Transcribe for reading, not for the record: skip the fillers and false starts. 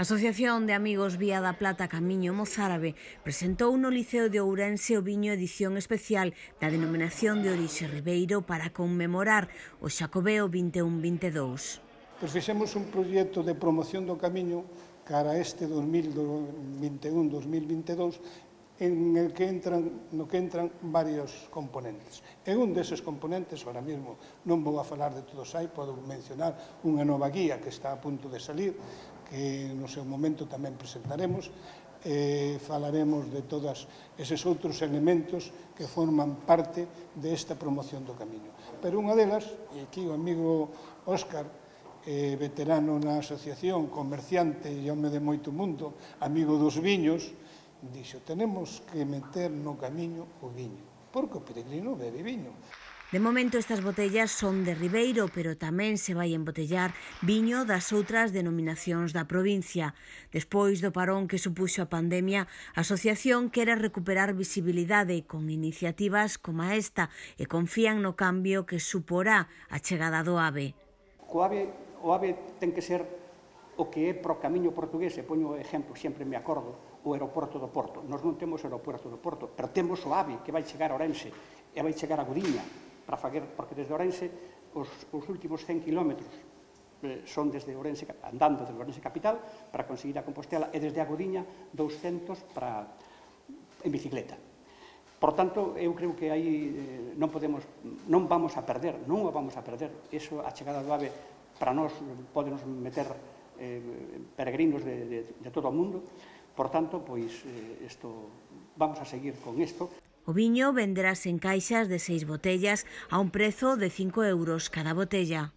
A Asociación de Amigos Vía da Plata Camiño Mozárabe presentou no Liceo de Ourense o viño edición especial da denominación de orixe Ribeiro para conmemorar o Xacobeo 21-22. Fixemos un proxecto de promoción do camiño cara a este 2021-2022 no que entran varios componentes. E un deses componentes, ahora mesmo non vou a falar de todos hai, podo mencionar unha nova guía que está a punto de salir, que no seu momento tamén presentaremos, falaremos de todos eses outros elementos que forman parte desta promoción do camiño. Pero unha delas, e aquí o amigo Óscar, veterano na asociación, comerciante e home de moito mundo, amigo dos viños, dixo, tenemos que meter no camiño o viño, porque o peregrino bebe viño. De momento estas botellas son de Ribeiro, pero tamén se vai embotellar viño das outras denominacións da provincia. Despois do parón que supuxo a pandemia, a asociación quere recuperar visibilidade con iniciativas como esta e confían no cambio que suporá a chegada do AVE. O AVE ten que ser o que é pro camiño portugués, e poño exemplo, sempre me acordo, o aeroporto do Porto. Nós non temos o aeroporto do Porto, pero temos o AVE que vai chegar a Ourense e vai chegar a Gudiña, porque desde Ourense os últimos 100 kilómetros son desde Ourense, andando desde Ourense capital para conseguir a Compostela, e desde a Gudiña 200 en bicicleta. Por tanto, eu creo que aí non vamos a perder, Eso, a chegada do AVE, para nós, podenos meter peregrinos de todo o mundo. Por tanto, pois, vamos a seguir con isto. O viño venderase en caixas de 6 botellas a un prezo de 5 € cada botella.